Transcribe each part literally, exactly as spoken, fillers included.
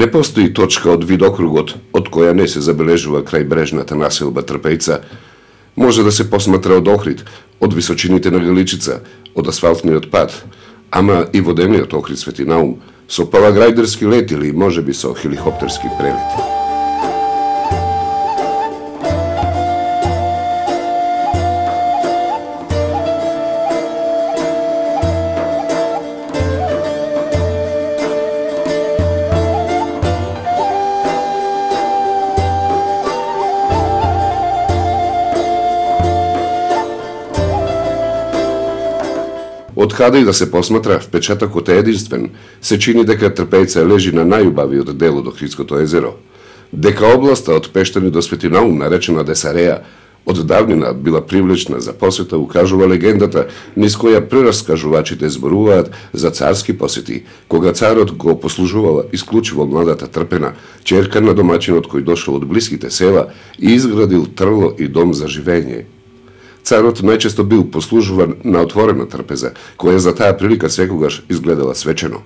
Не постои точка од видокругот од која не се забележува крајбрежната населба Трпејца. Може да се посматра од Охрид, од височините на Галичица, од асфалтниот пат, ама и водениот Охрид Свети Наум, со параграјдерски лет или можеби со хеликоптерски прелет. Од каде и да се посматра, впечатокот е единствен. Се чини дека Трпејца лежи на најубавиот дел од Охридското езеро. Дека областа од Пештани до Свети Наум, наречена Десареја, од давнина била привлечна за посета, укажува легендата, низ која прераскажувачите зборуваат за царски посети, кога царот го послужувала исклучиво младата Трпена, ќерка на домаќинот кој дошол од блиските села и изградил трло и дом за живење. Царот најчесто бил послужуван на отворена трпеза, која за таа прилика секогаш изгледала свечено.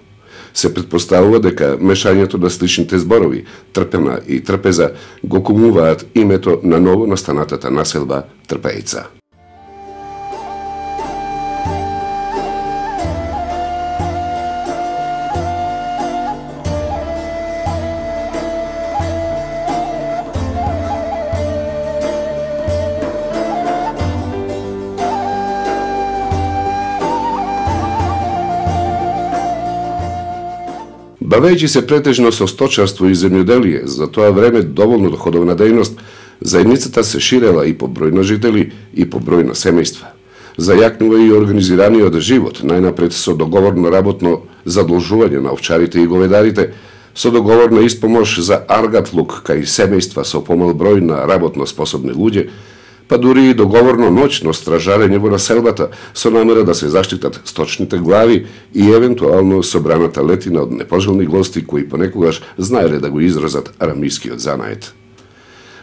Се претпоставува дека мешањето на сличните зборови, Трпена и трпеза, го кумуваат името на ново настанатата населба Трпејца. Бавејќи се претежно со сточарство и земјоделие, за тоа време доволно доходовна дејност, заедницата се ширела и по број на жители и по број на семејства. Зајакнува и организираниот живот, најнапред со договорно работно задолжување на овчарите и говедарите, со договорна испомош за аргатлук кај семејства со помал број на работно способни луѓе, па дури и договорно ноќно стражарење во населбата со намера да се заштитат сточните глави и евентуално собраната летина од непожелни гости кои понекогаш знаеле да го изразат арамискиот занает.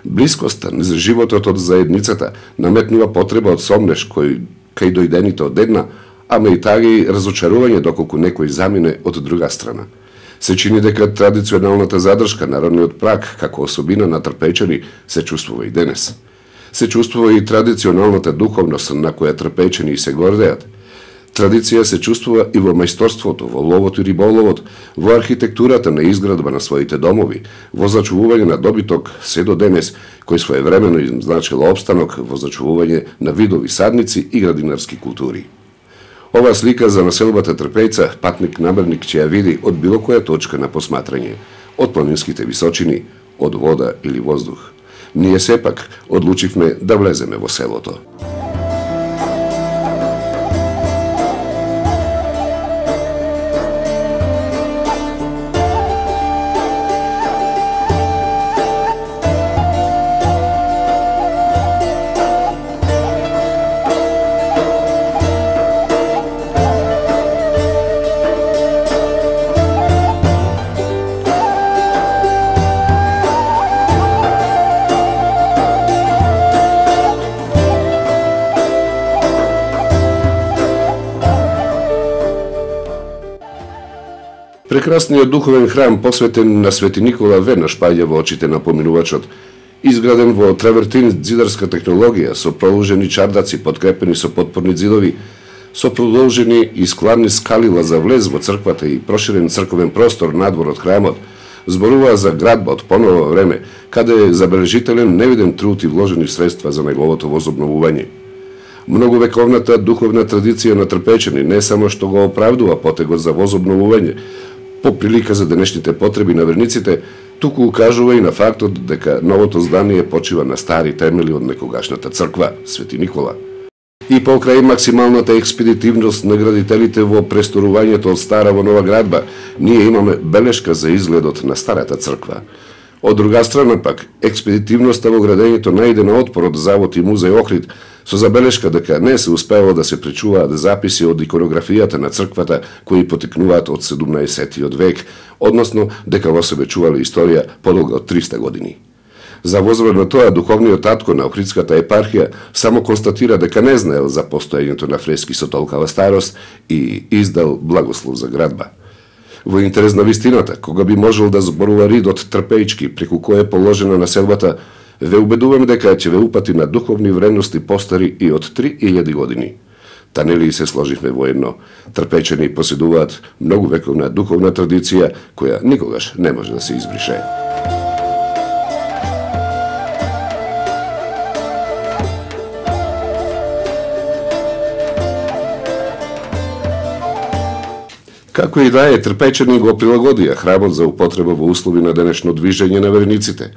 Блискоста низ животот од заедницата наметнува потреба од сомнеш кој кај дојдените од една, ама и тага и разочарување доколку некој замине од друга страна. Се чини дека традиционалната задршка, народниот прак, како особина на Трпејчани, се чувствува и денес. Се чувствува и традиционалната духовност на која Трпејчани се гордеат. Традиција се чувствува и во мајсторството, во ловот и риболовот, во архитектурата на изградба на своите домови, во зачувување на добиток се до денес, кој своевремено им значила опстанок во зачувување на видови садници и градинарски култури. Ова слика за населбата Трпејца патник намерник ќе ја види од било која точка на посматрање, од планинските височини, од вода или воздух. Ние сепак одлучивме да влеземе во селото. Прекрасниот духовен храм посветен на Свети Никола веднаш паѓа во очите на поминувачот. Изграден во травертин зидарска технологија, со проложени чардаци подкрепени со подпорни зидови, со продолжени и складни скалила за влез во црквата и проширен црковен простор надвор од храмот, зборува за градба од поново време, каде е забележителен невиден труд и вложени средства за неговото возобновување. Многовековната духовна традиција на Трпејчани не само што го оправдува потегот за возобновување, по прилика за денешните потреби на верниците, туку укажува и на фактот дека новото здание почива на стари темели од некогашната црква, Свети Никола. И покрај максималната експедитивност на градителите во престорувањето од стара во нова градба, ние имаме белешка за изгледот на старата црква. Од друга страна пак, експедитивноста во градењето најде на отпор од Завод и музеј Охрид, со забелешка дека не се успеало да се пречуваат записи од иконографијата на црквата кои потекнуваат од седумнаесеттиот век, односно дека во себе чувале историја подолга од триста години. За возврат на тоа, духовниот татко на Охридската епархија само констатира дека не знаел за постоењето на фрески со толкава старост и издал благослов за градба. Во интерес на вистината, кога би можел да зборува ридот трпеички преку кој е положена населбата, ве убедувам дека ќе ве упати на духовни вредности постари и од три илјади години. Та нели се сложивме воедно. Трпечени поседуваат многу вековна духовна традиција која никогаш не може да се избрише. Како и да е, трпечени го прилагодија храмот за употреба во услови на денешно движење на верниците.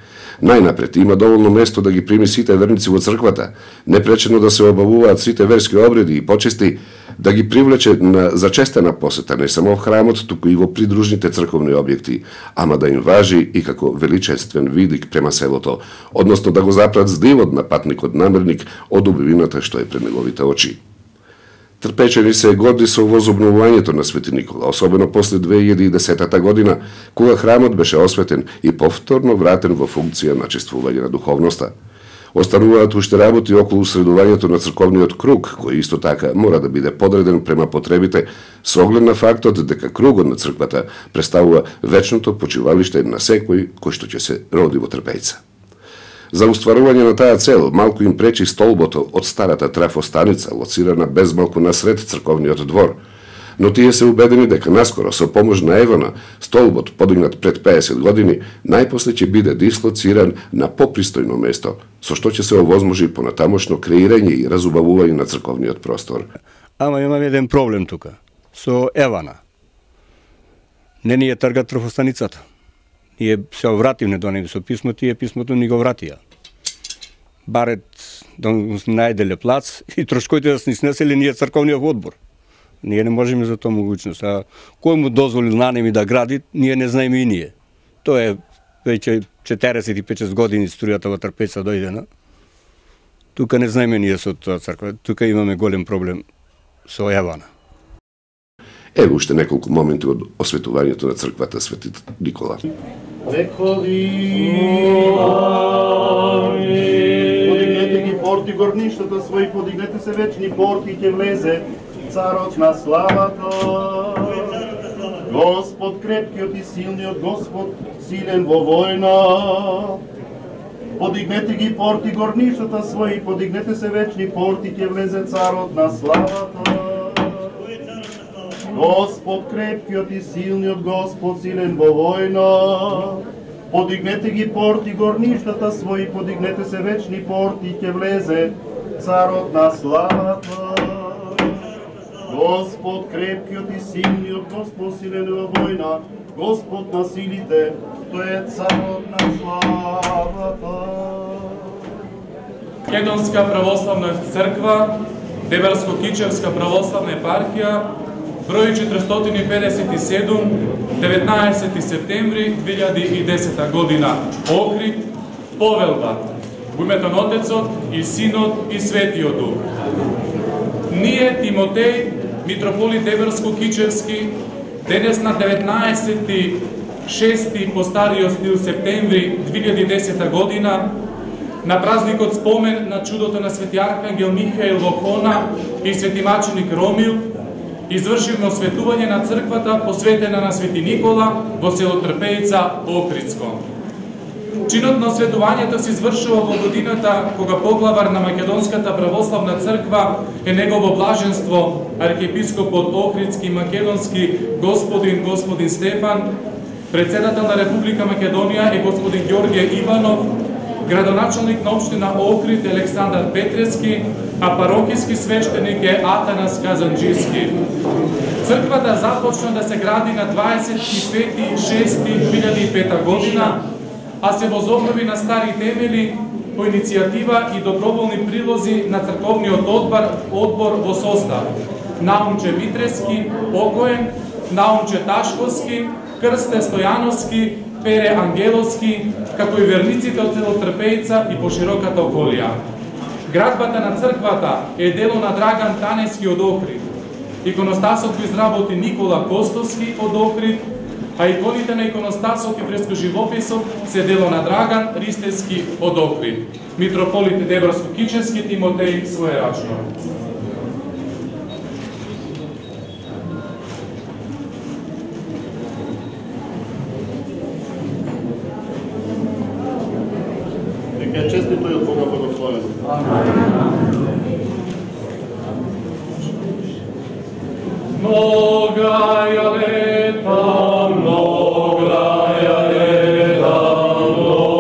Најнапред има доволно место да ги прими сите верници во црквата, непречено да се обавуваат сите верски обреди и почести, да ги привлече на зачестена посета не само во храмот, туку и во придружните црковни објекти, ама да им важи и како величествен видик према селото, односно да го запрат здивот на патникот намерник од убивината што е пред неговите очи. Трпечени се горди со возобновувањето на Свети Никола, особено после две илјади и десета година, кога храмот беше осветен и повторно вратен во функција на чествување на духовноста. Остануваат уште работи околу средувањето на црковниот круг, кој исто така мора да биде подреден према потребите, со оглед на фактот дека кругот на црквата представува вечното почивалиште на секој кој што ќе се роди во Трпејца. За устварување на таа цел, малку им пречи столбото од старата трафостаница, лоцирана безмалку насред црковниот двор. Но тие се убедени дека наскоро, со помош на Евана, столбот, подигнат пред педесет години, најпосле ќе биде дислоциран на попристојно место, со што ќе се овозможи понатамошно креирање и разубавување на црковниот простор. Ама имаме еден проблем тука, со Евана. Не ни е тргат трафостаницата. Ние се вративме до него со писмо, тие писмото ни го вратија. Барет да најделе плац и трошкоите да се снесели ние црковниот одбор. Ние не можеме за тоа могуćност. А кој му дозволил на неми да гради, ние не знаеме и ние. Тоа е веќе четиредесет и пет години струјата во Трпејца дојдена. Тука не знаеме ние со тоа црква. Тука имаме голем проблем со Евана. Еве уште неколку моменти од осветувањето на црквата Свети Никола. Векови, подигнете ги порти горништата своји, подигнете се вечни порти, ќе влезе царот на славата. Господ крепкиот и силниот, Господ силен во војна. Подигнете ги порти горништата своји, подигнете се вечни порти, ќе влезе царот на славата. Господ крепкиот и силниот, Господ силен во војна. Подигнете ги порти горништата своји, подигнете се вечни порти, ќе влезе царот на славата. Господ крепкиот и силниот, Господ силен во војна, Господ на силите, тој е царот на славата. Македонска православна црква, Дебарско-Кичевска православна епархија, број четиристотини педесет и седум, деветнаесети септември две илјади и десета година. Охрид, повелба. Во името на Отецот и Синот и Светиот Дух. Ние, Тимотеј, митрополит Дебарско-Кичевски, денес на деветнаесети шести по стариот стил септември две илјади и десета година, на празникот спомен на чудото на свети архангел Михаил во Хона и свети маченик Ромил, извршивме осветување на црквата посветена на Свети Никола во село Трпејца, Охридско. Чинот на осветувањето се извршува во годината кога поглавар на Македонската православна црква е негово блаженство архиепископот Охридски и Македонски господин господин Стефан, председател на Република Македонија е господин Ѓорѓе Иванов, градоначалник на општина Охрид Александар Петрески, а парокиски свештеник е Атанас Казанџиски. Црквата започна да се гради на дваесет и пети шести две илјади и пета година, а се возобнови на стари темели по иницијатива и доброволни прилози на црковниот одбор, одбор во состав Наумче Митрески, покоен, Наумче Ташковски, Крсте Стојановски, Пере Ангеловски, како и верниците од село Трпејца и по широката околија. Градбата на црквата е дело на Драган Танески од Охрид. Иконостасот го изработи Никола Костовски од Охрид, а иконите на иконостасот и фрескоживописот се дело на Драган Ристески од Охрид. Митрополит Дебарско-Кичевски Тимотеј своерачно. Нека е честито и од Бога благословено. Многая лета, многая лета, многая лета.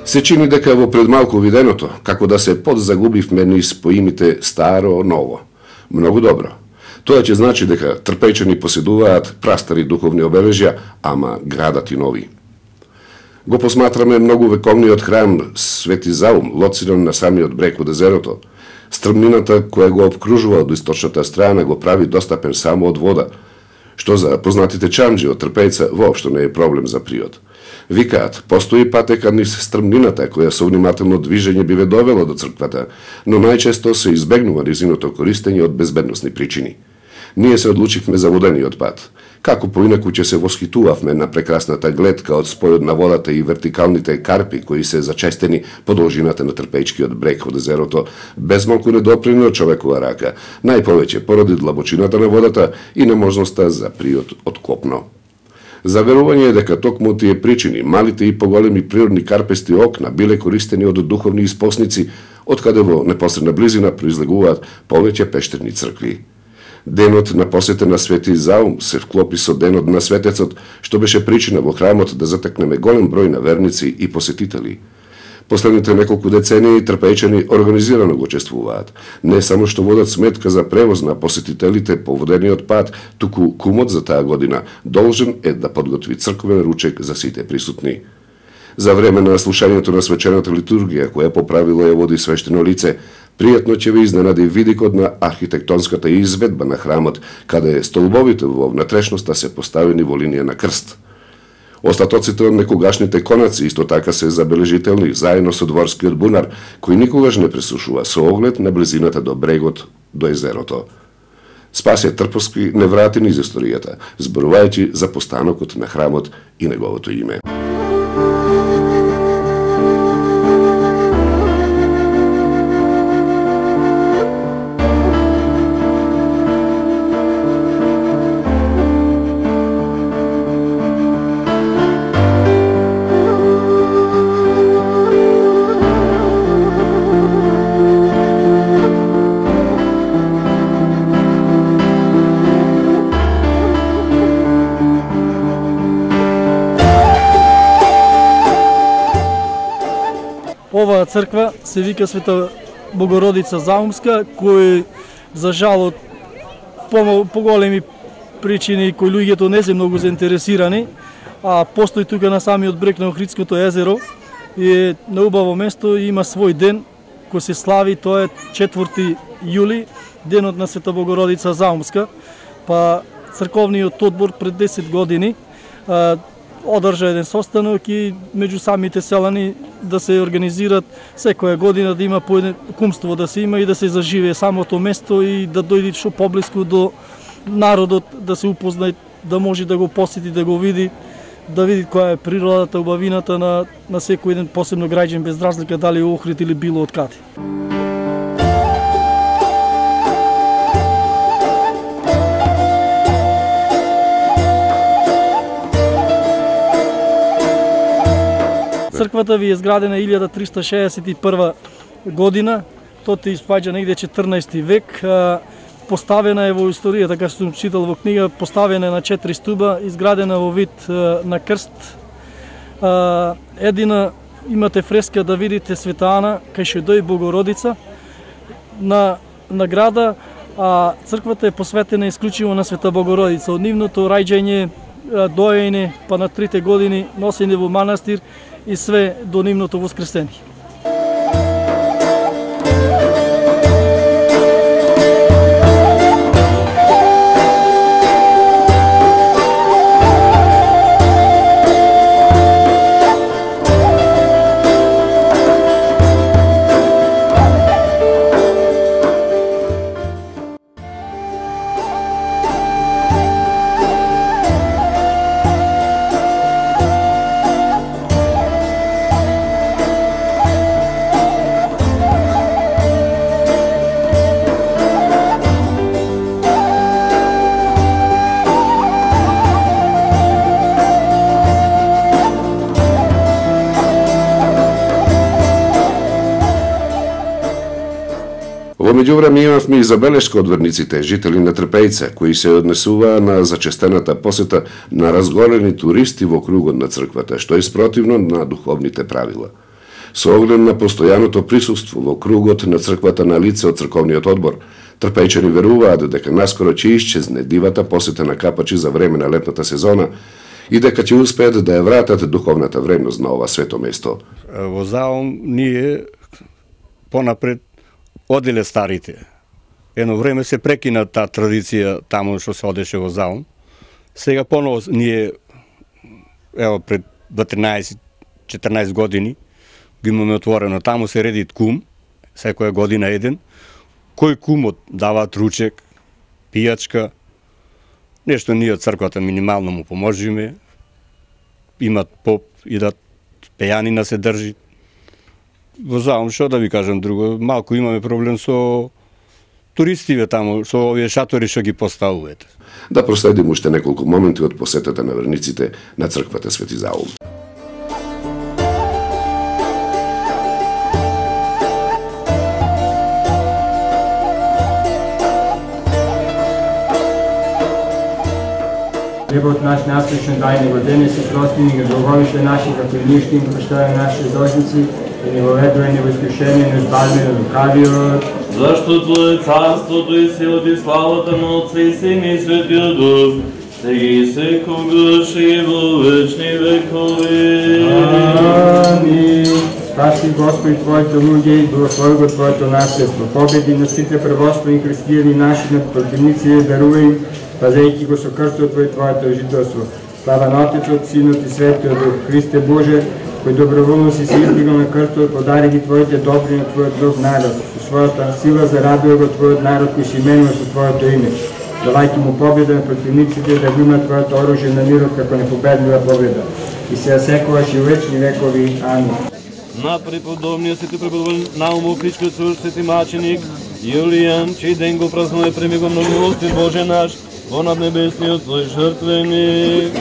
Се чини дека во пред малку виденото, како да се подзагубивме низ поимите старо, ново. Многу добро. Тоа ќе значи дека трпејчани поседуваат прастари духовни обележја, ама градат и нови. Го посматраме многу вековниот храм Свети Заум, лоциран на самиот брег од езерото. Стрмнината која го обкружува од источната страна го прави достапен само од вода, што за познатите чамџи од трпејца воопшто не е проблем за приод. Викаат, постои патека низ стрмнината која со внимателно движење би ве довела до црквата, но најчесто се избегнува низиното користење од безбедносни причини. Ние се одлучивме за водениот пат. Како поинаку ќе се восхитувавме на прекрасната гледка од спојот на водата и вертикалните карпи кои се зачестени по должината на трпејчкиот брег од езерото, без малку не доприна човекова рака, најповеќе поради длабочината на водата и неможноста за приот од копно. Заверување е дека токму тие причини, малите и поголеми природни карпести окна биле користени од духовни испосници, откаде во непосредна близина произлегуваат повеќе пештерни цркви. Денот на посета на Свети Заум се вклопи со денот на светецот, што беше причина во храмот да затекнеме голем број на верници и посетители. Последните неколку децении трпејчани организирано го учествуваат. Не само што водат сметка за превоз на посетителите по водениот пат, туку кумот за таа година должен е да подготви црковен ручек за сите присутни. За време на слушањето на свечената литургија, која по правило ја води свештено лице, пријатно ќе ви изненади видикот на архитектонската изведба на храмот, каде столбовите во внатрешноста се поставени во линија на крст. Остатоците од некогашните конаци исто така се забележителни, заедно со дворскиот бунар, кој никогаш не пресушува со оглед на близината до брегот до езерото. Спасе Трповски не врати низ историјата, зборувајќи за постанокот на храмот и неговото име. Оваа црква се вика Света Богородица Заумска, кој за жал од поголеми причини кои луѓето не се многу заинтересирани, а постои тука на самиот брег на Охридското езеро и е на убаво место и има свој ден кој се слави, тоа е четврти јули, денот на Света Богородица Заумска. Па црковниот одбор пред десет години а, одржа еден состанок и меѓу самите селани да се организират секоја година да има по еден кумство да се има и да се заживее самото место и да дојде што поблиску до народот, да се упозна, да може да го посети, да го види, да види која е природата, убавината на, на секој еден посебно граѓан, без разлика дали е Охрид или било од каде. Црквата ви е изградена илјада триста шеесет и прва година тоа ти испаѓа негде четрнаести век. Поставена е во историја, така што сум читал во книга, поставена е на четири стуба, изградена во вид на крст. Едина имате фреска да видите Света Ана, кај Шедој Богородица на награда, а црквата е посветена исклучиво на Света Богородица. Од нивното раѓање, доење, па на трите години носење во манастир и све до нивното воскресение. Во меѓувреме имавме и забелешка од верниците, жители на Трпејце, кои се однесуваа на зачестената посета на разголени туристи во кругот на црквата, што е спротивно на духовните правила. Со оглед на постојаното присуство во кругот на црквата на лице од црковниот одбор, трпејчани веруваат дека наскоро ќе исчезне дивата посета на капачи за време на летната сезона и дека ќе успеат да ја вратат духовната вредност на ова свето место. Во Заум ние понапред оделе старите. Едно време се прекина таа традиција таму што се одеше во Заум. Сега поново ние, ево пред дванаесет-четрнаесет години, го имаме отворено. Таму се редит кум, секоја година еден. Кој кумот даваат ручек, пијачка, нешто ние од црквата минимално му поможиме. Имат поп, идат пејанина се држи. Во Заум, што да ви кажам друго, малку имаме проблем со туристиве таму, со овие шатори што ги поставуваат. Да проследим уште неколку моменти од посетата на верниците на црквата Свети Заум. Хлебот наш насущен дај ни го денес и прости ни ги долговите наши, како и ние што им прощаваме нашите должници, и не воведувај ни во искушение, но избави ни од лукавиот. Зашто Твое царството и силата и славата на Отца и Сина и Светиот Дух, сега и секогаш и во вечни векови. Амин. Спаси Господи Твоите луѓе и благослови го Твоето наследство. Победи на сите превоствени христијани наши над противници и дарувај им, пазејќи го со крстот Твој Твоето жителство. Слава на Отецот, Синот и Светиот Дух. Христе Боже, кој доброволно си се изблигал на крстот, подари ги Твоите добри на Твојот друг народ. Со својата сила зарадува го Твојот народ кој се именува со Твоето име. Давајќи му победа на противниците, да го има Твоето оружје на мирот како непобедлива победа. И се секогаш и вечни векови. Амин. На преподобния свети преподобен Наумов, Кричкиот Сурж, свети маченик Јулијан, чиј ден го празнува премиго на милостив Боже наш, во наднебесниот Твој жртвеник.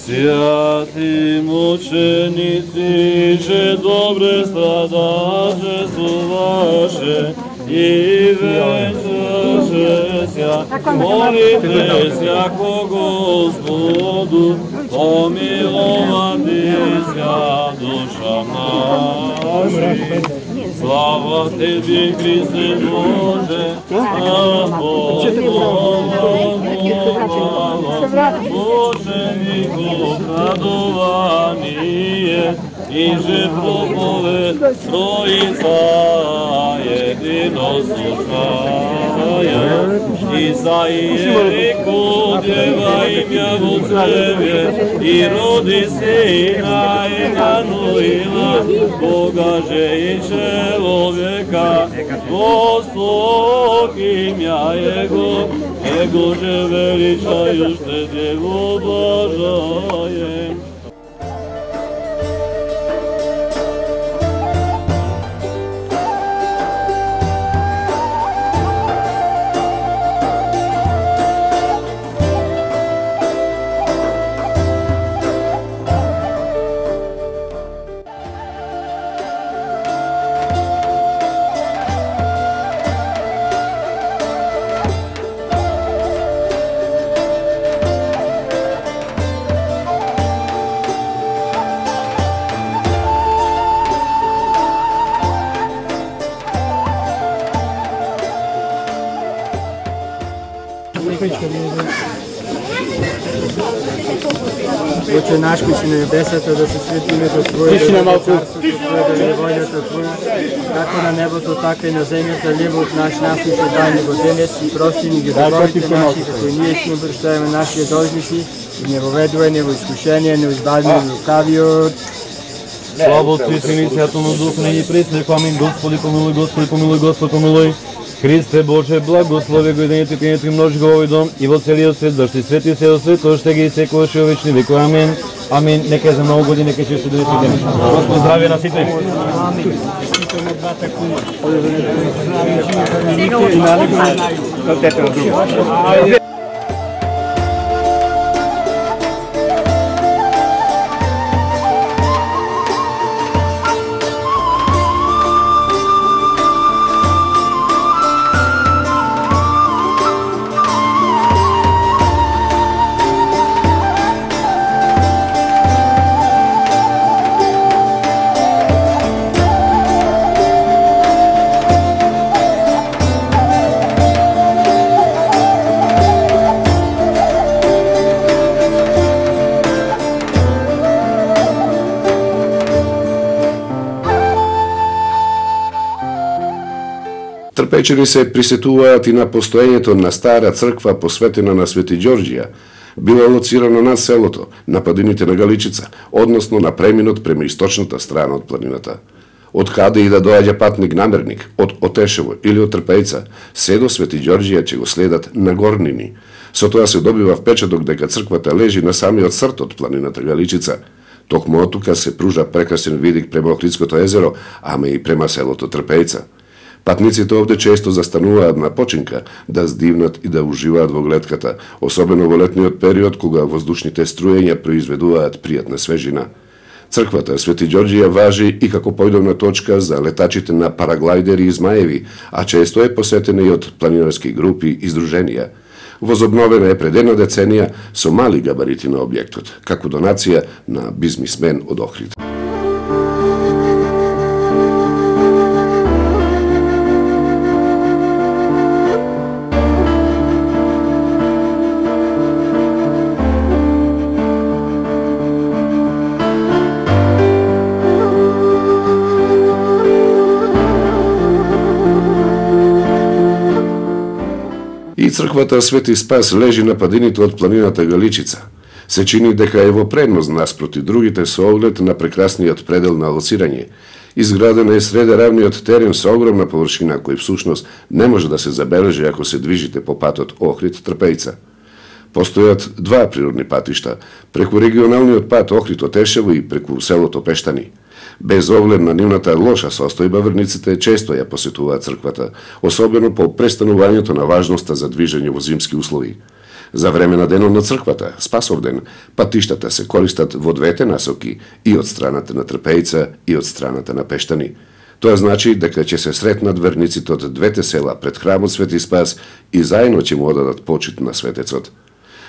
Святи мученици, че добре страдачествуваше и вечерше ся, молите ся ко Господу, помиловати ся душа наша. Слава Тебе, Христе Боже, мучеников радование и жертвоповед Троица единосушная. Исаия реко дева имя во Тебе и роди сина Емануила, Бога же и человека, Господ имя Его, Его же величаю, что Его обожаем. Отче наш кој си на небесата, да се свети името Твое, да дојде царството Твое, да биде волјата Твоја, како на небото, така и на земјата. Хлебот наш насушен дај ни го денес и прости ни ги долговите наши, како и ние ќе им прощаваме нашите должници, и не воведувај ни во искушение, не избави ни од лукавиот. Слава Отцу и Сину и Святому Духу, није и пресно. Амин. Господи помилуј, Господи помилуј, Господ помилуј. Христе Боже, благослови го и денето и пиенето и множи го во овој дом и во целиот свет, зашто свети се од свет, оште ги и секогаш и во вечни векови. Амин. Амин. Нека за многу години, нека често да ви ден. Господ здравје на сите. Амин. Трпечени се присетуваат и на постоењето на стара црква посветена на Свети Ѓорѓија, била лоцирана над селото, на падините на Галичица, односно на преминот према источната страна од планината. Од каде и да доаѓа патник намерник, од Отешево или од Трпејца, се до Свети Ѓорѓија ќе го следат на горнини. Со тоа се добива впечаток дека црквата лежи на самиот срт од планината Галичица. Токму оттука се пружа прекрасен видик према Охридското езеро, ама и према селото Трпејца. Патниците овде често застануваат на починка да здивнат и да уживаат во глетката, особено во летниот период кога воздушните струења произведуваат пријатна свежина. Црквата Свети Ѓорѓија важи и како појдовна точка за летачите на параглајдери и змаеви, а често е посетена и од планинарски групи и здруженија. Возобновена е пред една деценија со мали габарити на објектот, како донација на бизнисмен од Охрид. И црквата Свети Спас лежи на падините од планината Галичица. Се чини дека е во предност наспроти другите со оглед на прекрасниот предел на лоцирање. Изградена е среде равниот терен со огромна површина кој всушност не може да се забележи ако се движите по патот Охрид-Трпејца. Постојат два природни патишта, преку регионалниот пат Охрид-Отешево и преку селото Пештани. Без оглед на нивната лоша состојба, верниците често ја посетуваат црквата, особено по престанувањето на важноста за движење во зимски услови. За време на денот на црквата, Спасовден, патиштата се користат во двете насоки, и од страната на Трпејца и од страната на Пештани. Тоа значи дека ќе се сретнат верниците од двете села пред храмот Свети Спас и заедно ќе му одадат почит на светецот.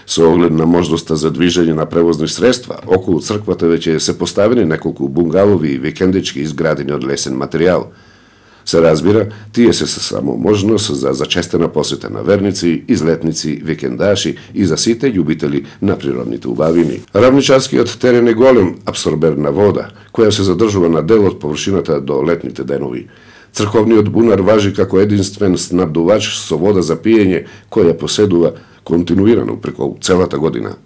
Со оглед на можноста за движење на превозни средства, околу црквата веќе се поставени неколку бунгалови и викендички изградени од лесен материјал. Се разбира, тие се само можност за зачестена посета на верници, излетници, викендаши и за сите љубители на природните убавини. Равничарскиот терен е голем абсорбер на вода, која се задржува на дел од површината до летните денови. Црковниот бунар важи како единствен снабдувач со вода за пиење, која поседува континуирано преку целата година.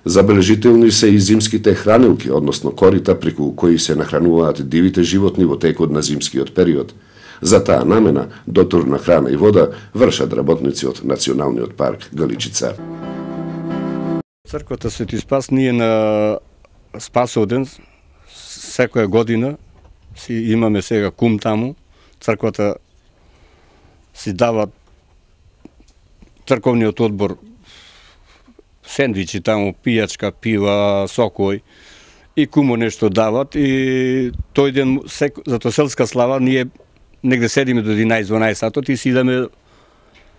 Забележителни се и зимските хранилки, односно корита преку кои се нахрануваат дивите животни во текот на зимскиот период. За таа намена, дотур на храна и вода вршат работници од Националниот парк Галичица. Црквата Свети Спас ние на Спасовден секоја година си имаме сега кум таму. Црквата си дава црковниот одбор сендвичи таму, пијачка, пива, сокој и кумо нешто дават и тој ден зато селска слава ние негде седиме до единаесет-дванаесет сатот и си идеме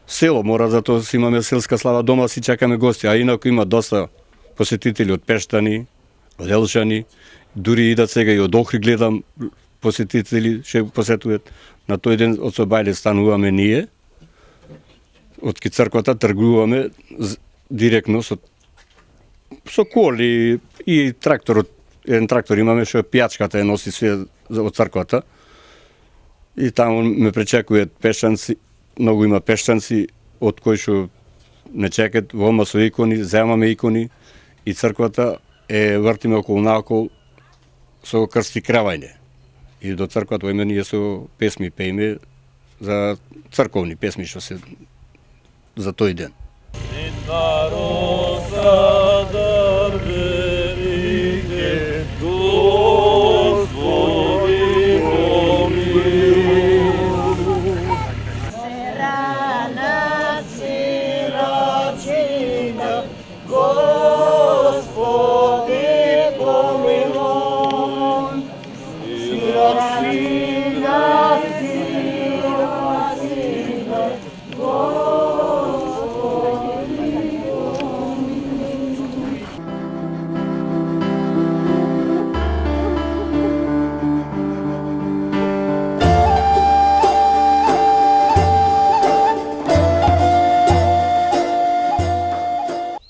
село, мора затоа си имаме селска слава дома, си чакаме гости, а инаку има доста посетители од Пештани, од Елшани, дури идат сега и од Охрид гледам посетители, ше посетуваат. На тој ден од Собајле стануваме ние, од ки црквата тргуваме директно со со коли и тракторот, еден трактор имаме што пијачката е носи све од црквата. И таму ме пречекуваат пешчанци, многу има пешчанци од кои што не чекат, вома со икони, земаме икони и црквата е вртиме околу наокол со крст и кревање. И до црквата име ние со песми пееме за црковни песми што се за тој ден.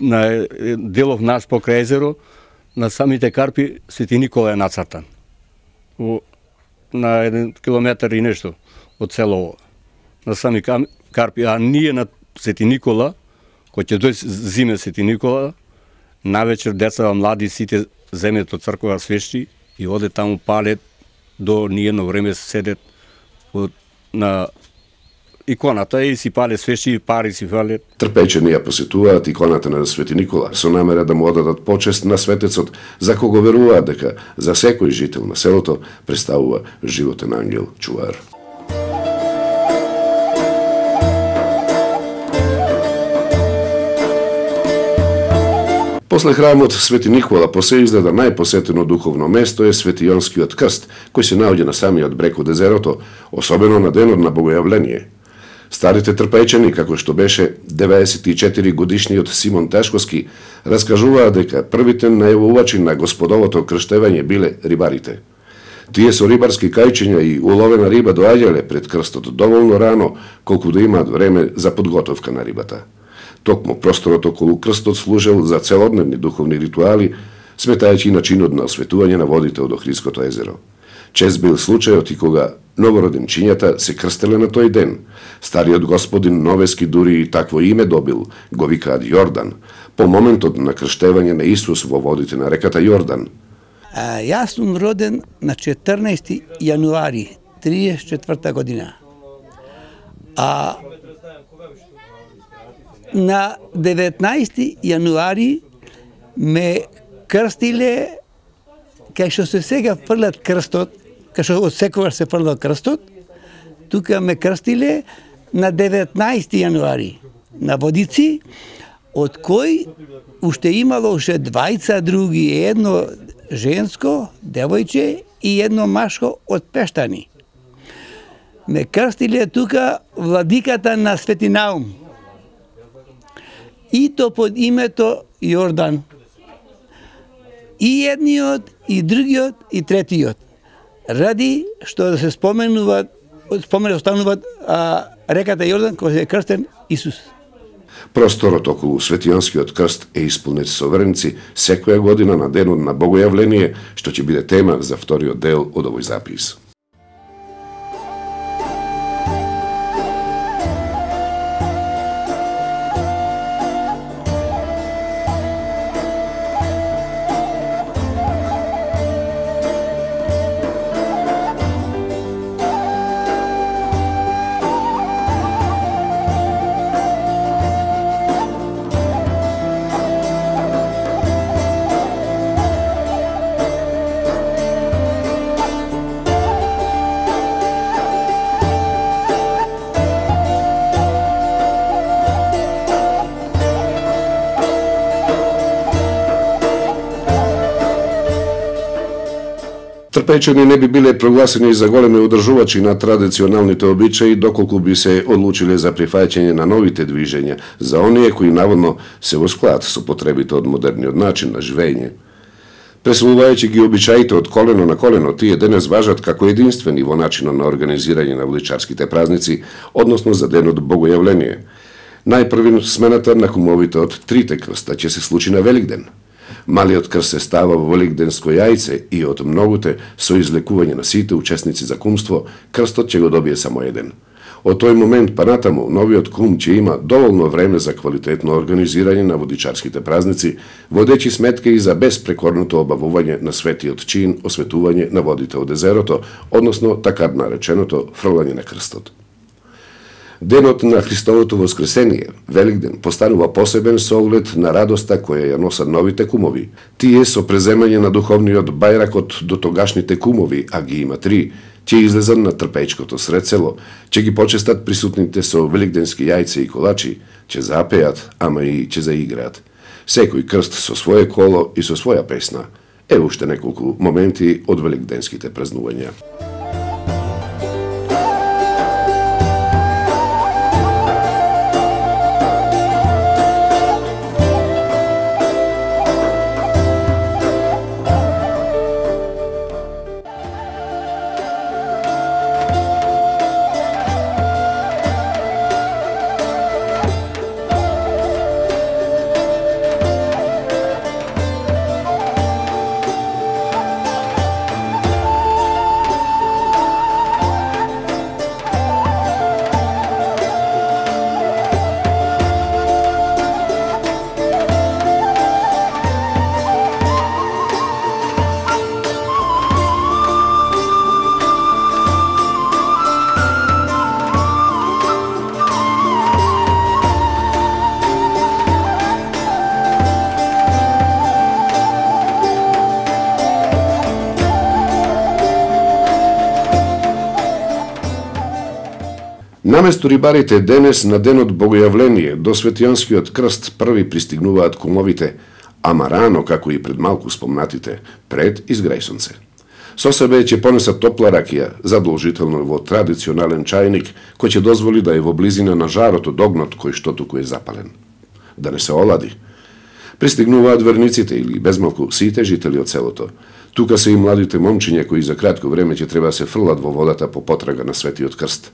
На делов наш покрај езеро, на самите карпи Свети Никола е нацртан. На еден километар и нешто од селово. На сами карпи, а ние на Свети Никола, кој ќе дојде зиме Свети Никола, навечер деца, млади, сите земјат од црква свещи и оде таму палет до ниедно време седет на иконата и си пале свещи и пари си фалет. Трпејчени ја посетуваат иконата на Свети Никола со намера да му одадат почест на светецот, за кого веруваат дека за секој жител на селото представува животен ангел чувар. После храмот Свети Никола по се изгледа најпосетено духовно место е Светионскиот крст, кој се наоѓа на самиот брег од езерото, особено на денот на Богојавление. Старите трпејчани, како што беше деветдесет и четири годишниот Симон Тешковски, раскажуваа дека првите најавувачи на Господовото крштевање биле рибарите. Тие со рибарски кајчиња и уловена риба доаѓале пред крстот доволно рано, колку да имаат време за подготовка на рибата. Токму просторот околу крстот служел за целодневни духовни ритуали, сметајќи и начинот на осветување на водите од Охридското езеро. Чест бил случајот и кога новороденчињата се крстеле на тој ден. Стариот господин Новески дури и такво име добил, го викаат Јордан, по моментот на крштевање на Исус во водите на реката Јордан. А, јас сум роден на четрнаесети јануари триесет и четврта година. А на деветнаесети јануари ме крстиле кај што се сега фрлат крстот, кај што од секогаш се фрлат крстот, тука ме крстиле на деветнаесети јануари на Водици, од кој уште имало уште двајца други, едно женско, девојче и едно машко од Пештани. Ме крстиле тука владиката на Свети Наум, и то под името Јордан. И едниот, и другиот, и третиот. Ради што да се споменуваат, споменуваат, остануваат а, реката Јордан кој е крстен Исус. Просторот околу Светионскиот крст е исполнет со верници секоја година на денот на Богојавление, што ќе биде тема за вториот дел од овој запис. Трпејчани не би биле прогласени за големи одржувачи на традиционалните обичаи доколку би се одлучиле за прифаќање на новите движења, за оние кои наводно се во склад со потребите од модерниот начин на живење. Преселувајќи ги обичаите од колено на колено, тие денес важат како единствени во начинот на организирање на вличарските празници, односно за денот Богојавление. Најпрвин смената на кумовите од трите крста ќе се случи на Великден. Малиот крст се става во великденско јајце и од многуте со излекување на сите учесници за кумство, крстот ќе го добие само еден. Од тој момент па натаму, новиот кум ќе има доволно време за квалитетно организирање на водичарските празници, водечи сметка и за безпрекорното обавување на светиот чин, осветување на водите од езерото, односно така нареченото фрлање на крстот. Денот на Христовото воскресение, Великден, постанува посебен со оглед на радоста која ја носат новите кумови. Тие со преземање на духовниот бајрак од дотогашните кумови, а ги има три, ќе излезат на трпејчкото сред село, ќе ги почестат присутните со великденски јајци и колачи, ќе запеат, ама и ќе заиграат. Секој крст со своје коло и со своја песна. Е уште неколку моменти од великденските празнувања. Наместо рибарите денес на денот Богојавление до Светијанскиот крст први пристигнуваат кумовите, ама рано, како и пред малку спомнатите, пред изграјсонце. Со себе ќе понесат топла ракија, задолжително во традиционален чајник, кој ќе дозволи да е во близина на жарот од огнот кој што туку е запален. Да не се олади. Пристигнуваат верниците или безмалку сите жители од селото. Тука се и младите момчиња кои за кратко време ќе треба да се фрлат во водата по потрага на Светиот крст.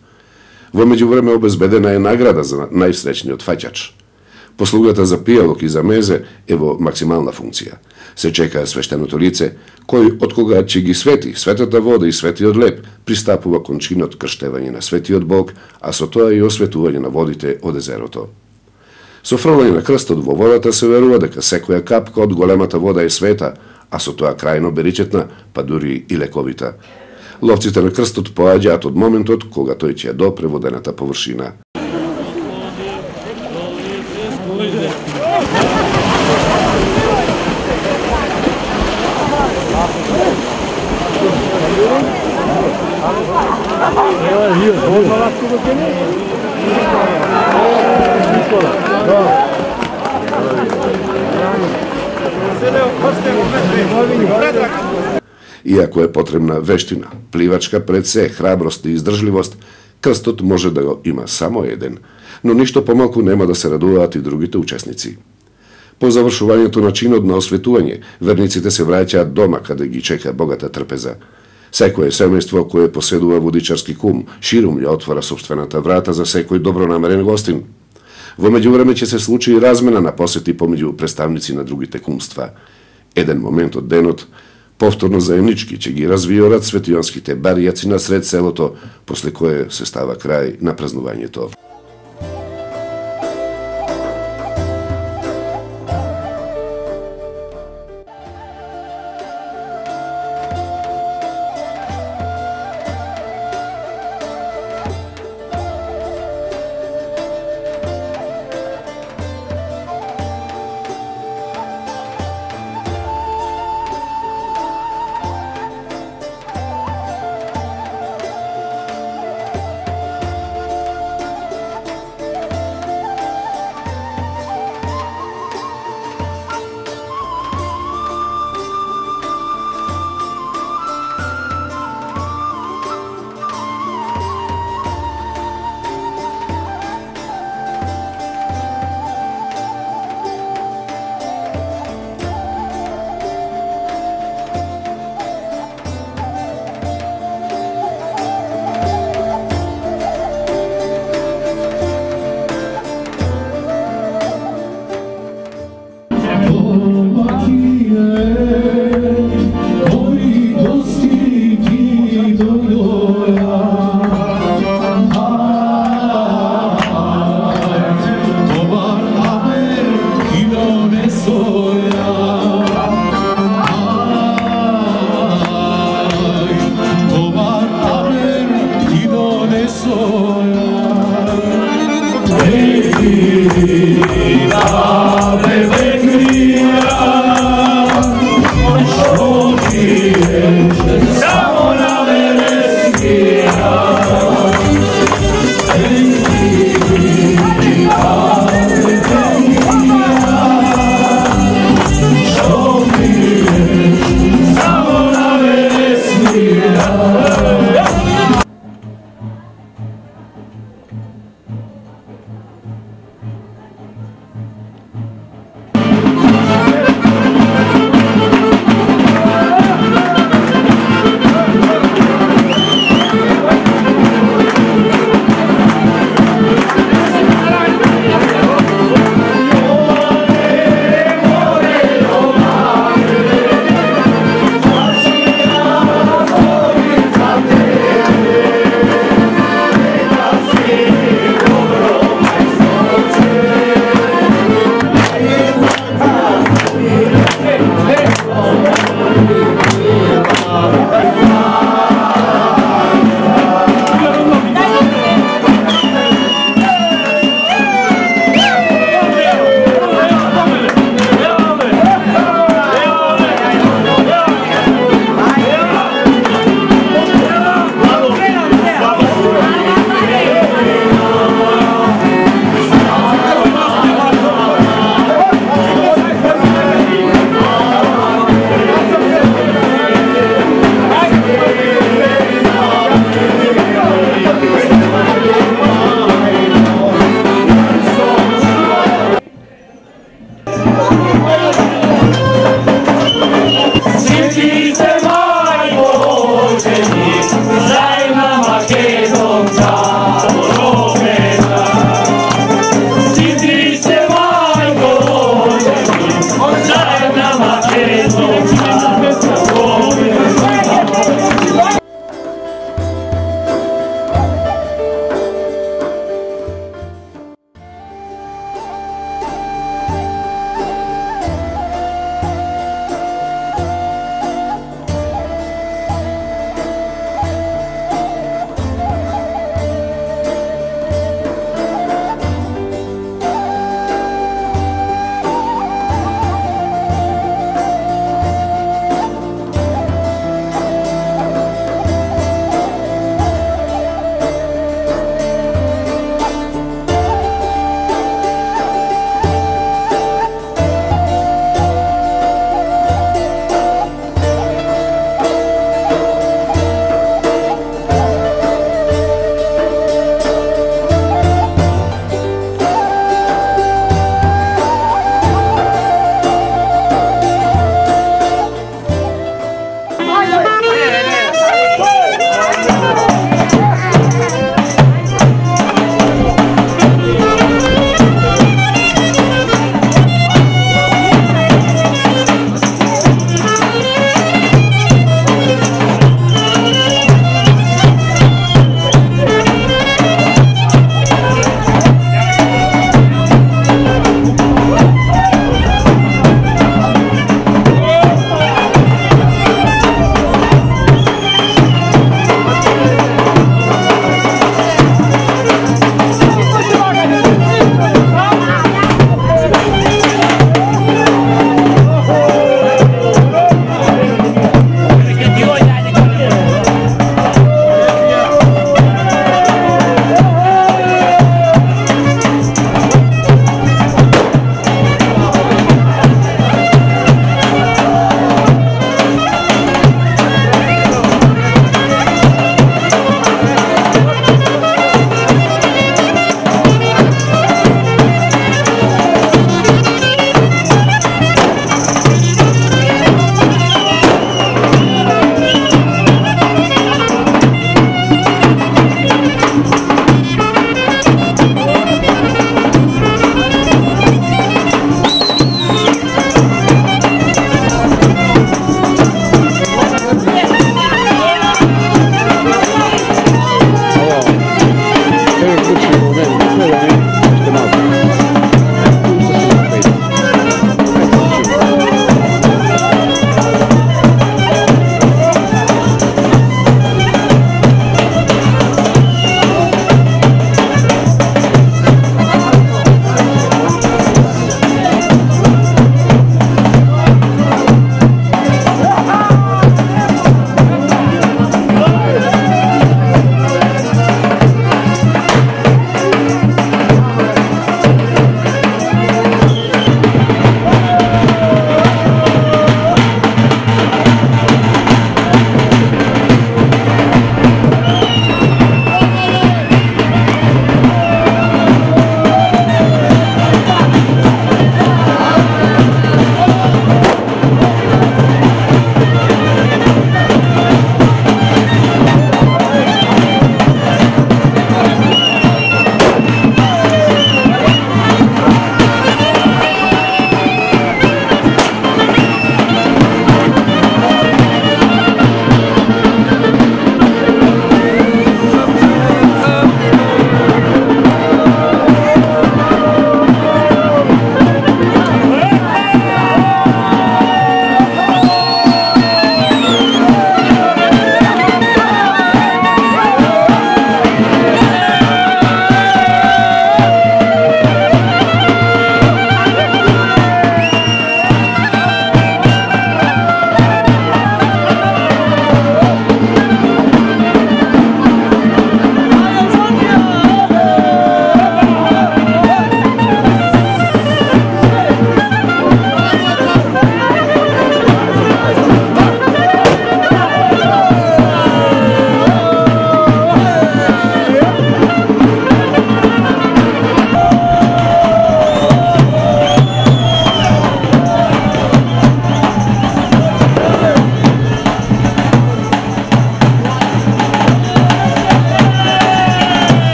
Во меѓувреме обезбедена е награда за најсреќниот фаќач. Послугата за пијалок и за мезе е во максимална функција. Се чека свештеното лице, кој од кога ќе ги свети светата вода и светиот леп, пристапува кон чинот крштевање на светиот Бог, а со тоа и осветување на водите од езерото. Со фрлање на крстот во водата се верува дека секоја капка од големата вода е света, а со тоа крајно беричетна, па дури и лековита. Ловците на крстот поаѓаат од моментот кога тој ќе допре водената површина. Иако е потребна вештина, пливачка пред се, храброст и издржливост, крстот може да го има само еден, но ништо помалку нема да се радуваат и другите учесници. По завршувањето на чинот на осветување, верниците се враќаат дома каде ги чека богата трпеза. Секое семејство кое поседува водичарски кум, ширум ја отвора собствената врата за секој добронамерен гостин. Во меѓувреме ќе се случи и размена на посети помеѓу представници на другите кумства. Еден момент од денот, повторно заемнички ќе ги развиорат светијанските баријаци на сред селото, после кое се става крај на празнувањето.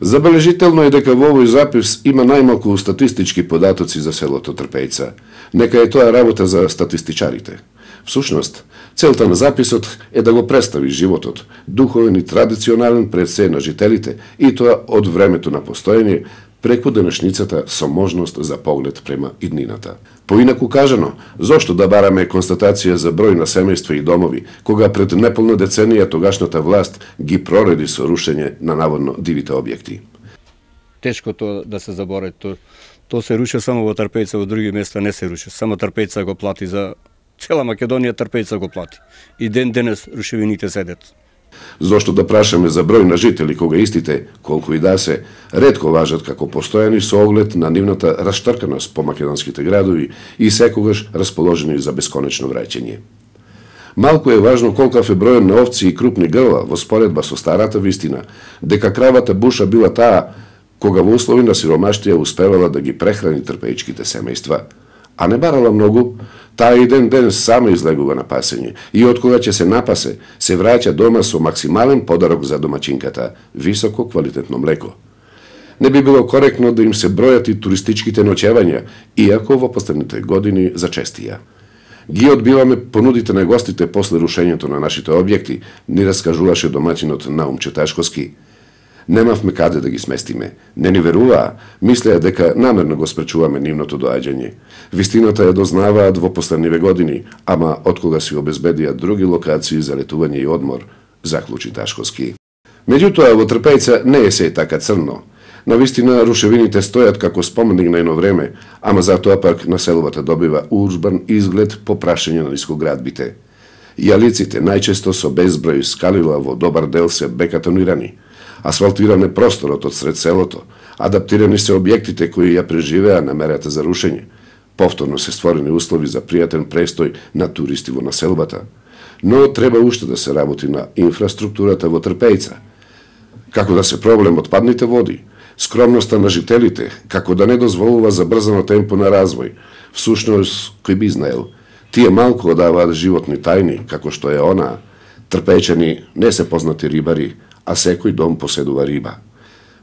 Забележително е дека во овој запис има најмалку статистички податоци за селото Трпејца. Нека е тоа работа за статистичарите. Всушност, целта на записот е да го представи животот, духовен и традиционален пред се на жителите, и тоа од времето на постоење преку денешницата со можност за поглед према иднината. Поинаку кажано, зошто да бараме констатација за број на семејства и домови, кога пред неполна деценија тогашната власт ги прореди со рушење на наводно дивите објекти? Тешко тоа да се заборави. То, то се руши само во Трпејца, во други места не се руши. Само Трпејца го плати за цела Македонија, Трпејца го плати. И ден денес рушевините седат. Зошто да прашаме за број на жители, кога истите, колку и да се, ретко важат како постојани со оглед на нивната раштрканост по македонските градови и секогаш расположени за бесконечно враќање. Малку е важно колкав е бројот на овци и крупни грла во споредба со старата вистина, дека кравата буша била таа кога во услови на сиромаштија успевала да ги прехрани трпејчките семејства, а не барала многу, таа и ден ден сама излегува на пасење и откога ќе се напасе, се враќа дома со максимален подарок за домаќинката – високо квалитетно млеко. Не би било коректно да им се бројат и туристичките ноќевања, иако во последните години зачестија. Ги одбиваме понудите на гостите после рушењето на нашите објекти, ни раскажуваше домаќинот Наумче Ташковски. Немавме каде да ги сместиме. Не ни веруваа, мислеа дека намерно го спречуваме нивното доаѓање. Вистината ја дознаваат во последниве години, ама откога си обезбедија други локации за летување и одмор, заклучи Ташковски. Меѓутоа, во Трпејца не е се така црно. Навистина, рушевините стојат како споменик на едно време, ама затоа пак населбата добива урбан изглед по прашање на нискоградбите. Јалиците најчесто со безброј скалила во добар дел се бекатонирани. Асфалтиран е просторот од сред селото, адаптирани се објектите кои ја преживеа на мерата за рушење. Повторно се створени услови за пријатен престој на туристи во населбата. Но треба уште да се работи на инфраструктурата во Трпејца. Како да се проблем отпадните води, скромноста на жителите, како да не дозволува забрзано темпо на развој. Всушност, кој би знаел, тие малку одаваат животни тајни, како што е она. Трпејчани не се познати рибари, а секој дом поседува риба.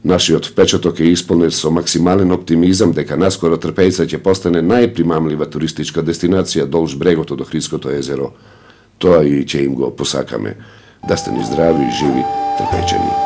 Нашиот впечаток е исполнет со максимален оптимизам дека наскоро Трпејца ќе постане најпримамлива туристичка дестинација долж брегот од Охридското езеро. Тоа и ќе им го посакаме. Да сте ни здрави и живи, Трпејчани.